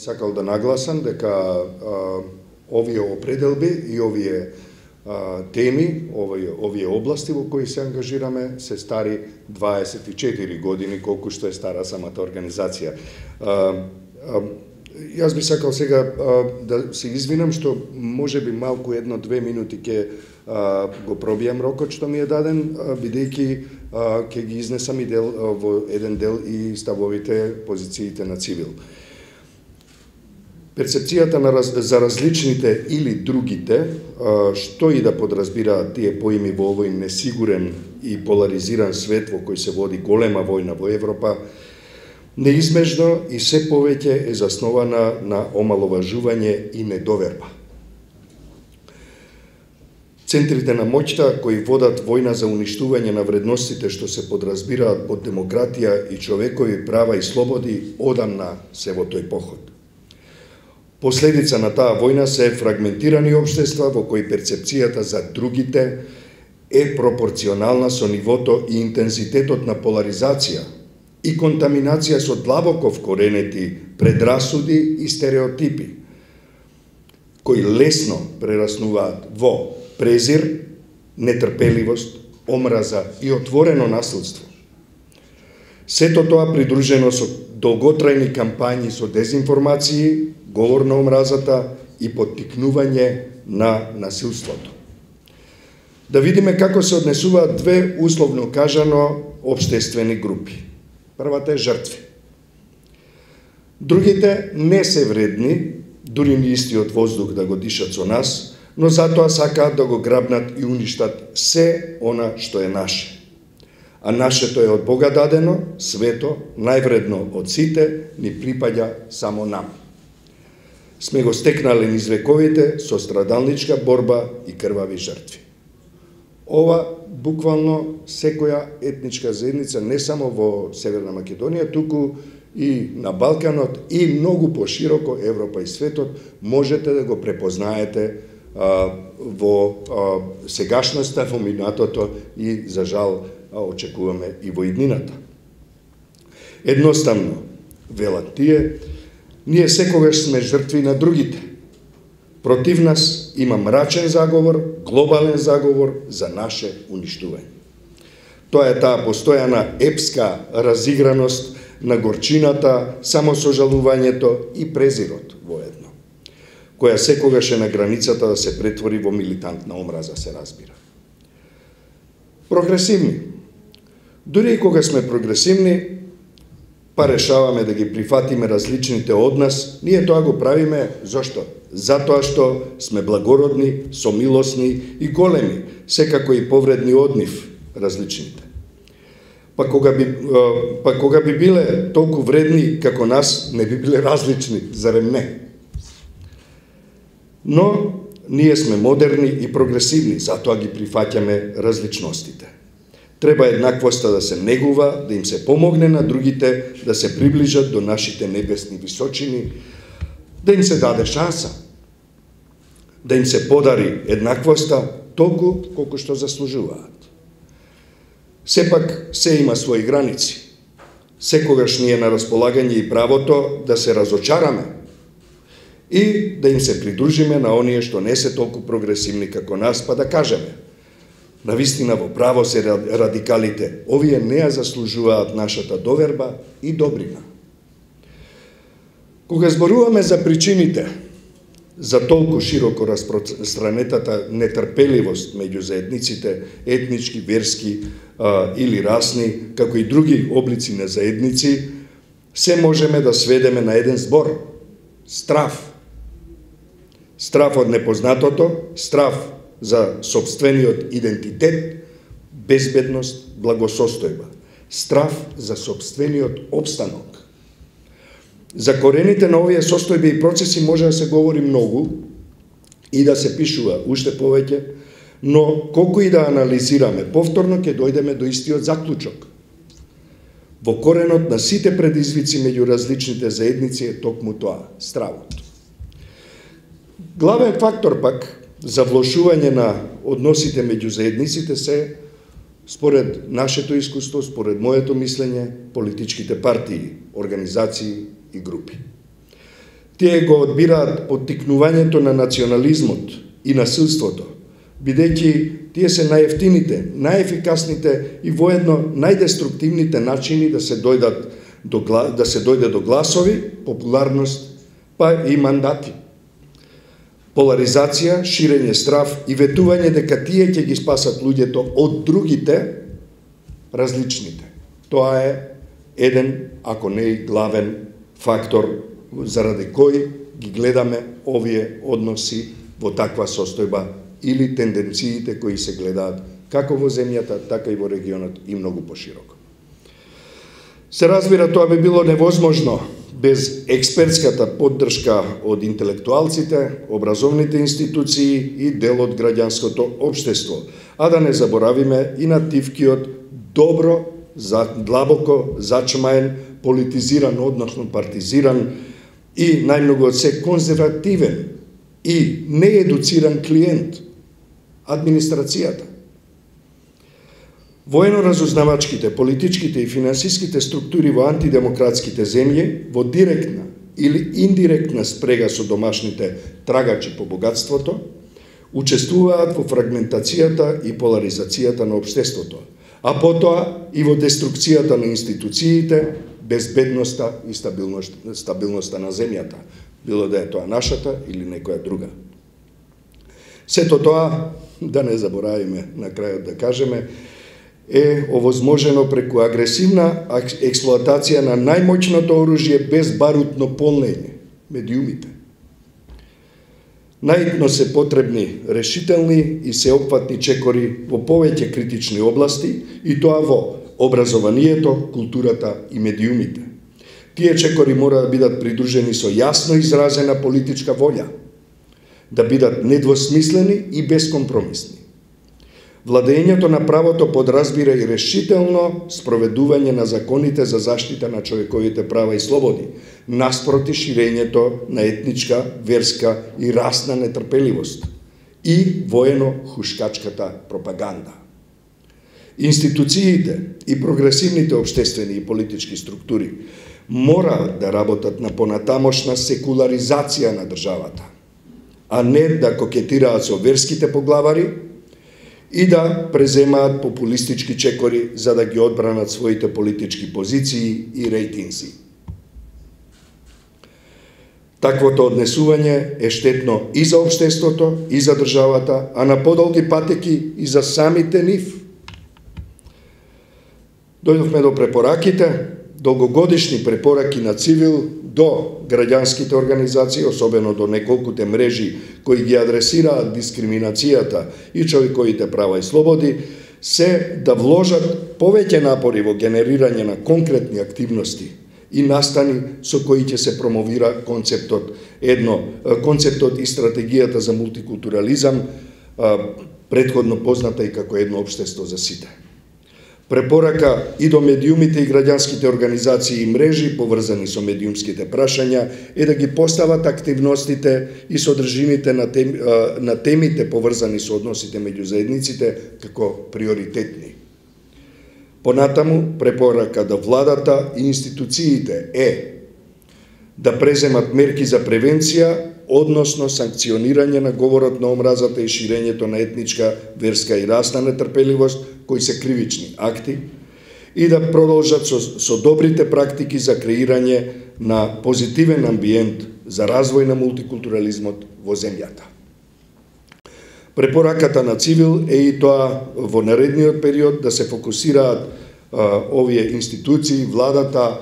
сакал да нагласам дека овие определби и овие теми, овие области во кои се ангажираме се стари 24 години, колку што е стара самата организација. Јас би сакал сега да се извинам што можеби малку 1-2 минути ќе го пробијам рокот што ми е даден, бидејќи ќе ги изнесам и во еден дел и ставовите, позициите на Цивил. Перцепцијата за различните или другите, што и да подразбираат тие поими во овој несигурен и поларизиран свет во кој се води голема војна во Европа, неизбежно и се повеќе е заснована на омаловажување и недоверба. Центрите на моќта кои водат војна за уништување на вредностите што се подразбираат под демократија и човекови права и слободи одамна се во тој поход. Последица на таа војна се фрагментирани општества во кои перцепцијата за другите е пропорционална со нивото и интензитетот на поларизација и контаминација со длабоко вкоренети предрасуди и стереотипи, кои лесно прераснуваат во презир, нетрпеливост, омраза и отворено насилство. Сето тоа придружено со долготрајни кампањи со дезинформации, говор на омразата и поттикнување на насилството. Да видиме како се однесуваат две, условно кажано, општествени групи. Првата е жртви. Другите не се вредни, дури ни истиот воздух да го дишат со нас, но затоа сакаат да го грабнат и уништат се она што е наше. А нашето е од Бога дадено, свето, највредно од сите, ни припаѓа само нам. Сме го стекнале низ вековите со страдалничка борба и крвави жртви. Ова буквално секоја етничка заедница не само во Северна Македонија, туку и на Балканот и многу пошироко Европа и светот можете да го препознаете во сегашноста, во минатото и за жал очекуваме и во иднината. Едноставно, велат тие, ние секогаш сме жртви на другите. Против нас има мрачен заговор, глобален заговор за наше уништување. Тоа е таа постојана епска разиграност на горчината, самосожалувањето и презирот воедно, која секогаш е на границата да се претвори во милитантна омраза, се разбира. Прогресивни. Дури и кога сме прогресивни, па решаваме да ги прифатиме различните од нас, ние тоа го правиме зошто? Затоа што сме благородни, сомилосни и големи, секако и повредни од нив различните. Па кога би биле толку вредни како нас, не би биле различни, зарем не? Но ние сме модерни и прогресивни, затоа ги прифаќаме различностите. Треба еднаквоста да се негува, да им се помогне на другите, да се приближат до нашите небесни височини, да им се даде шанса, да им се подари еднаквоста толку колку што заслужуваат. Сепак, се има своји граници. Секогаш ни е на располагање и правото да се разочараме и да им се придружиме на оние што не се толку прогресивни како нас, па да кажеме: навистина во право се радикалите, овие не ја заслужуваат нашата доверба и добрина. Кога зборуваме за причините за толку широко распространетата нетрпеливост меѓу заедниците, етнички, верски или расни, како и други облици на заедници, се можеме да сведеме на еден збор: страв. Страв од непознатото, страв за сопствениот идентитет, безбедност, благосостојба. Страв за сопствениот опстанок. За корените на овие состојби и процеси може да се говори многу и да се пишува уште повеќе, но колку и да анализираме, повторно ќе дојдеме до истиот заклучок. Во коренот на сите предизвици меѓу различните заедници е токму тоа, стравот. Главен фактор пак за влошување на односите меѓу заедниците се, според нашето искуство, според моето мислење, политичките партии, организации и групи. Тие го одбираат поттикнувањето на национализмот и насилството, бидејќи тие се најевтините, најефикасните и воедно најдеструктивните начини да се дојде до гласови, популарност, па и мандати. Поларизација, ширење страв и ветување дека тие ќе ги спасат луѓето од другите, различните. Тоа е еден, ако не и главен фактор заради кој ги гледаме овие односи во таква состојба или тенденциите кои се гледаат како во земјата, така и во регионот и многу пошироко. Се разбира, тоа би било невозможно без експертската поддршка од интелектуалците, образовните институции и дел од граѓанското општество, а да не заборавиме и нативкиот добро, длабоко зачмаен, политизиран, односно партизиран и најмногу од се конзервативен и неедуциран клиент, администрацијата. Воено-разузнавачките, политичките и финансиските структури во антидемократските земји во директна или индиректна спрега со домашните трагачи по богатството, учествуваат во фрагментацијата и поларизацијата на општеството, а потоа и во деструкцијата на институциите, безбедноста и стабилноста на земјата, било да е тоа нашата или некоја друга. Сето тоа, да не заборавиме на крајот да кажеме, е овозможено преку агресивна експлоатација на најмоćното оружје без барутно полнење, медиумите. Најитно се потребни решителни и сеопфатни чекори во повеќе критични области, и тоа во образованието, културата и медиумите. Тие чекори мора да бидат придружени со јасно изразена политичка волја, да бидат недвосмислени и безкомпромисни. Владењето на правото подразбира и решително спроведување на законите за заштита на човековите права и слободи, наспроти ширењето на етничка, верска и расна нетрпеливост и воено-хушкачката пропаганда. Институциите и прогресивните општествени и политички структури мора да работат на понатамошна секуларизација на државата, а не да кокетираат со верските поглавари и да преземаат популистички чекори за да ги одбранат своите политички позиции и рейтинзи. Таквото однесување е штетно и за општеството, и за државата, а на подолги патеки и за самите нив. Дојдовме до препораките, долгогодишни препораки на Цивил до граѓанските организации, особено до неколкуте мрежи кои ги адресираат дискриминацијата и човековите права и слободи, се да вложат повеќе напори во генерирање на конкретни активности и настани со кои ќе се промовира концептот и стратегијата за мултикултурализам, претходно позната и како едно општество за сите. Препорака и до медиумите и граѓанските организации и мрежи поврзани со медиумските прашања е да ги постават активностите и содржините на темите поврзани со односите меѓу заедниците како приоритетни. Понатаму, препорака до владата и институциите е да преземат мерки за превенција, односно санкционирање на говорот на омразата и ширењето на етничка, верска и расна нетрпеливост, кои се кривични акти, и да продолжат со добрите практики за креирање на позитивен амбиент за развој на мултикултурализмот во земјата. Препораката на Цивил е и тоа во наредниот период да се фокусираат овие институции, владата,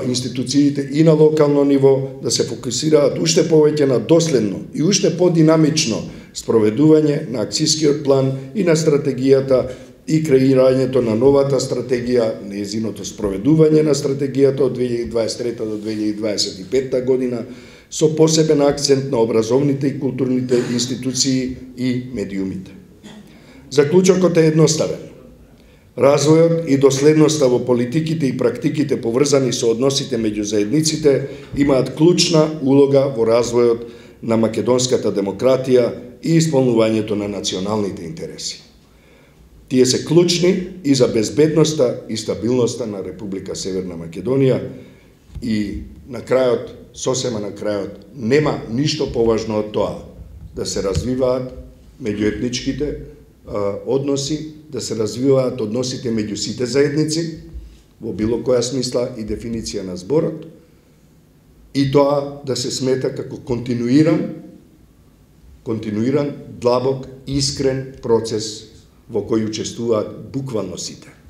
институциите и на локално ниво, да се фокусираат уште повеќе на доследно и уште подинамично спроведување на акцискиот план и на стратегијата и креирањето на новата стратегија, нејзиното спроведување на стратегијата од 2023 до 2025 година, со посебен акцент на образовните и културните институции и медиумите. Заклучокот е едноставен. Развојот и доследноста во политиките и практиките поврзани со односите меѓу заедниците имаат клучна улога во развојот на македонската демократија и исполнувањето на националните интереси. Тие се клучни и за безбедноста и стабилноста на Република Северна Македонија и на крајот сосема на крајот, нема ништо поважно од тоа да се развиваат меѓуетничките односи, да се развиваат односите меѓу сите заедници, во било која смисла и дефиниција на зборот, и тоа да се смета како континуиран, длабок, искрен процес во кој учествуваат буквално сите.